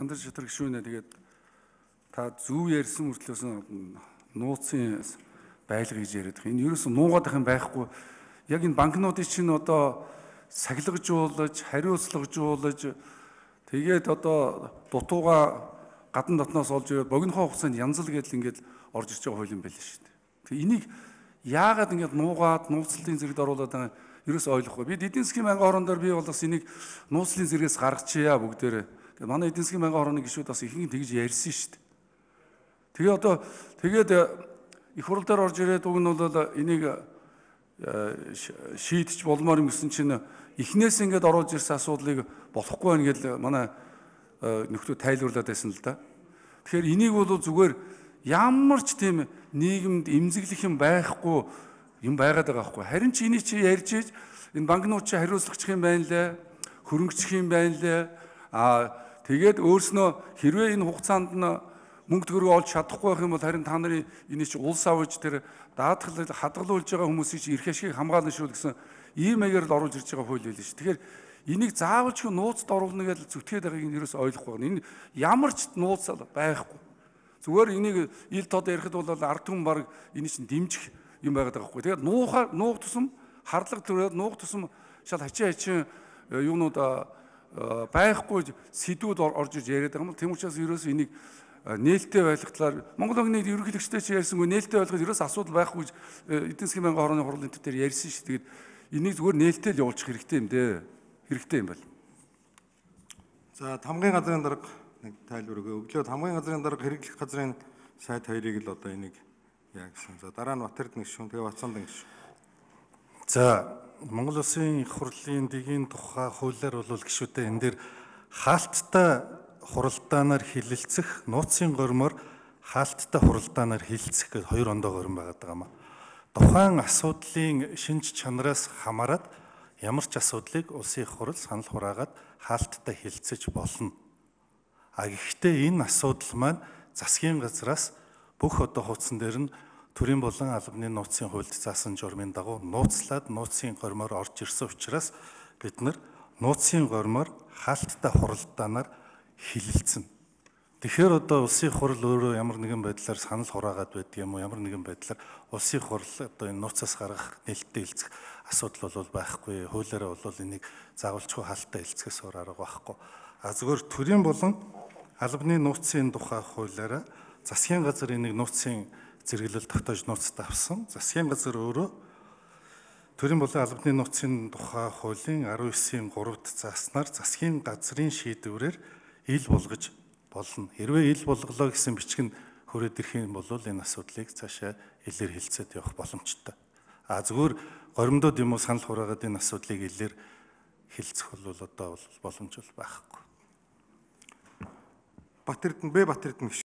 Зандар шатраг гишүүнэ тэгээд та зөв ярьсан мөртлөөс нууцын байлга гэж яриад байгаа. Энэ ерөөсөн нуугаад байх юм байхгүй. Яг энэ банкнуудыг чинь одоо сахилгажуулж, хариуцлагажуулж тэгээд одоо дутууга гадна дотноос олж ирээд богинохоо хугацаанд янзал гэдэл ингээд орж ирж байгаа хууль юм байл шүү дээ. Тэгээ энийг яагаад ингээд нуугаад нууцлалын зэрэгт оруулаад байгаа ерөөс ойлгохгүй. Бид эдийн засгийн байнгын орон дээр бий болоос энийг нууцлалын зэрэгээс гаргачихъя бүгдээрээ. Манай эдийн засгийн байнгын орны гишүүд бас ихэнх тэгж ярьсан шүү дээ. Тэгээ одоо тэгээд их хурл дээр орж ирээд уг нь бол энийг шийдэж болмоор юм гэсэн чинь эхнээс ингээд оруулж ирсэн асуудлыг болохгүй байна гэж манай нөхдөд тайлбарлаад байсан л да. Тэгэхээр энийг бол зүгээр ямар ч тийм нийгэмд эмзэглэх юм байхгүй юм байгаад байгаа байхгүй. Харин ч энийг чи ярьж ийж энэ банкнууд чи хариуцлагачих юм байна лээ, хөрөнгөчих юм байна лээ. Тэгээд өөрснөө хэрвээ энэ хугацаанд нь мөнгө төгрөг олж чадахгүй байх юм бол харин та нарын энэ чи улс авч тэр даатгал хадгалуулж байгаа хүмүүсийг чи эрх ашгийг хамгаална шүү гэсэн ийм маягаар л оруулж ирж байгаа хууль байл шүү. Тэгэхээр энийг заавал ч нууцд оруулна гэж зүтгээд байгааг нь ерөөс ойлгохгүй байна. Энэ ямар ч нууц байхгүй. Зүгээр энийг ил тод ярихад бол ард түмэн баг энийг чинь дэмжих юм байгаад байгаа байхгүй. Тэгээд нуух тусам харлага төрөөд нуух тусам шал хачин юунууд байхгүй сэдвүүд орж иж яриад байгаа юм. Тэм учраас ерөөс энийг нээлттэй байлгахлаар Монгол банкны ерөнхийлөгчтэй чи ярьсангүй нээлттэй байлгахад ерөөс асуудал байхгүй гэж эдийн засгийн байнгын хорооны хурал энэ төр ярьсан шүү. Тэгээд энийг зүгээр нээлттэй л явуулчих хэрэгтэй юм дээ. Хэрэгтэй юм байна. За хамгийн газрын дарга нэг тайлбар өглөө хамгийн газрын дарга хэрэглэх газрын сайд хоёрыг л одоо энийг яа гэсэн. За дараа нь Батэрдэн гишүүн тэгээ Бацаандан гишүүн. За Монгол Улсын их хурлын дэгийн тухай хуулиар бол гишүүтэй энэ дээр хаалттай хуралдаанаар хилэлцэх, нууцын гормоор хаалттай хуралдаанаар хилэлцэх гэж хоёр ондоо горим байгаад байгаа юм. Тухайн асуудлын шинж чанараас хамаарат ямар ч асуудлыг улсын их хурал санал хураагаад хаалттай хилцэж болно. Гэхдээ энэ асуудал маань засгийн газраас бүх одоо хуудсан дээр нь төрийн болон албаны нууцын хуульд заасан журмын дагуу нууцлаад нууцын гормоор орж ирсэн учраас бид нар нууцын гормоор хаалттай хуралдаанаар хилэлцэн. Тэгэхээр одоо улсын хурал өөрөө ямар нэгэн байдлаар санал хураагаад байдаг юм уу, ямар нэгэн байдлаар улсын хурал одоо энэ нууцаас гаргах нээлттэй хилцэх асуудал бол байхгүй. Хуулиараа бол энийг заавалчгүй хаалттай хилцэхээс өөр арга байхгүй. Зүгээр төрийн болон албаны нууцын тухай хуулиараа засгийн газар энийг нууцын зэрэглэл тогтоож нууцтай авсан. Засгийн газар өөрөө төрийн болон албаны нууцын тухай хуулийн 19-ийн 3-т зааснаар засгийн газрын шийдвэрээр ил болгож болно. Хэрвээ ил болголоо гэсэн бичгэн хүрээд ирэх юм бол энэ асуудлыг цаашаа илээр хилцээд явах боломжтой. Зүгээр горимдод юм уу санал хураагаад энэ асуудлыг илээр хилцэх бол одоо боломж байхгүй. Батэрдэн